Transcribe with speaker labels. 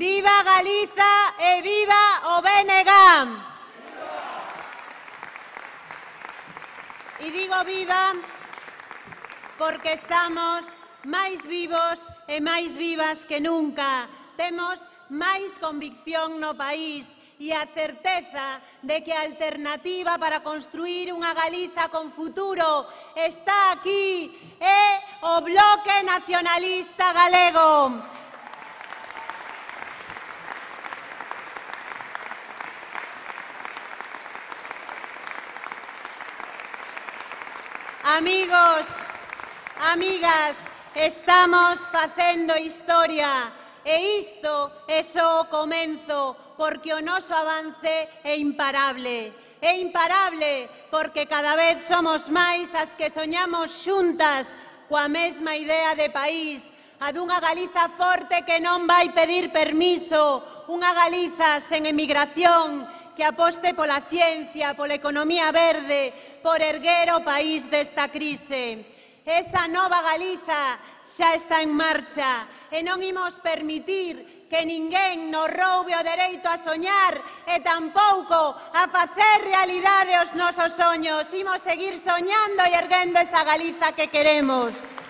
Speaker 1: Viva Galiza e viva o BNG! E digo viva porque estamos máis vivos e máis vivas que nunca. Temos máis convicción no país e a certeza de que a alternativa para construir unha Galiza con futuro está aquí, é o Bloque Nacionalista Galego. Amigos, amigas, estamos facendo historia e isto é só o comenzo porque o noso avance é imparable. É imparable porque cada vez somos máis as que soñamos xuntas coa mesma idea de país, a dunha Galiza forte que non vai pedir permiso, unha Galiza sen emigración, que aposte pola ciencia, pola economía verde, por erguer o país desta crise. Esa nova Galiza xa está en marcha e non imos permitir que ninguén nos roube o dereito a soñar e tampouco a facer realidade os nosos soños. Imos seguir soñando e erguendo esa Galiza que queremos.